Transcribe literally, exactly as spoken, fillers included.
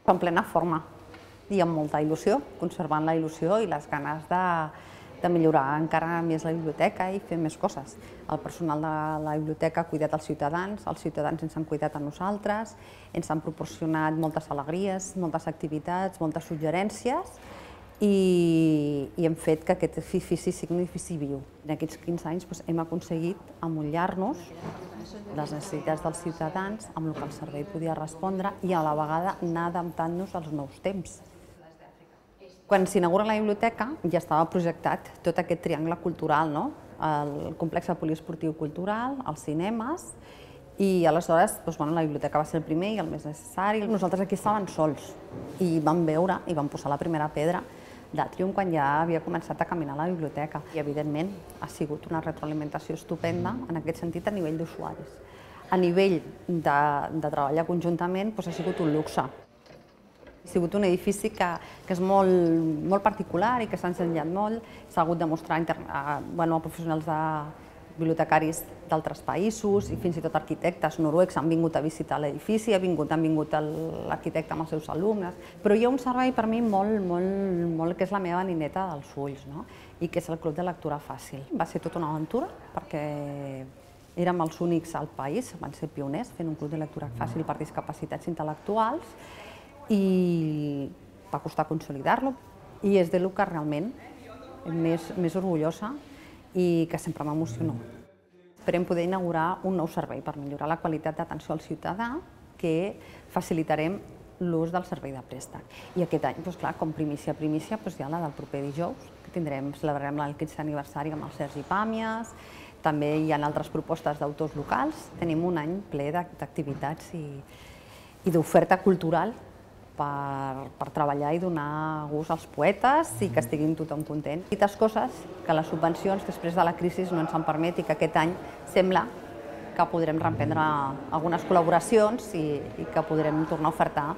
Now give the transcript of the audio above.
En plena forma i amb molta il·lusió, conservant la il·lusió i les ganes de, de millorar encara més la biblioteca i fer més coses. El personal de la biblioteca ha cuidat els ciutadans, els ciutadans ens han cuidat a nosaltres, ens han proporcionat moltes alegries, moltes activitats, moltes suggerències i, i hem fet que aquest edifici sigui un edifici viu. En aquests quinze anys doncs, hem aconseguit amollar-nos les necessitats dels ciutadans amb el que el servei podia respondre i a la vegada anar adaptant-nos als nous temps. Quan s'inaugura la biblioteca ja estava projectat tot aquest triangle cultural, no? El complex poliesportiu cultural, els cinemes, i aleshores doncs, bueno, la biblioteca va ser el primer i el més necessari. Nosaltres aquí estàvem sols i vam veure i vam posar la primera pedra d'Atrium quan ja havia començat a caminar la biblioteca. I evidentment ha sigut una retroalimentació estupenda en aquest sentit a nivell d'usuaris. A nivell de, de treballar conjuntament doncs, ha sigut un luxe. Ha sigut un edifici que, que és molt, molt particular i que s'ha ensenyat molt. S'ha hagut de mostrar a, bueno, a professionals de bibliotecaris d'altres països i fins i tot arquitectes noruecs han vingut a visitar l'edifici, ha vingut, han vingut l'arquitecte amb els seus alumnes, però hi ha un servei per mi molt, molt, molt que és la meva nineta dels ulls, no? I que és el Club de Lectura Fàcil. Va ser tota una aventura perquè érem els únics al país, van ser pioners fent un club de lectura fàcil per discapacitats intel·lectuals i va costar consolidar-lo i és del que realment més, més orgullosa i que sempre m'emociona. Esperem poder inaugurar un nou servei per millorar la qualitat d'atenció al ciutadà que facilitarem l'ús del servei de préstec. I aquest any, doncs clar, com primícia, primícia, doncs hi ha la del proper dijous, que tindrem, celebrarem el quinzè aniversari amb el Sergi Pàmies, també hi ha altres propostes d'autors locals, tenim un any ple d'activitats i, i d'oferta cultural Per, per treballar i donar gust als poetes i que estiguin tothom content. Petites coses que les subvencions després de la crisi no ens han permet i que aquest any sembla que podrem reprendre algunes col·laboracions i, i que podrem tornar a ofertar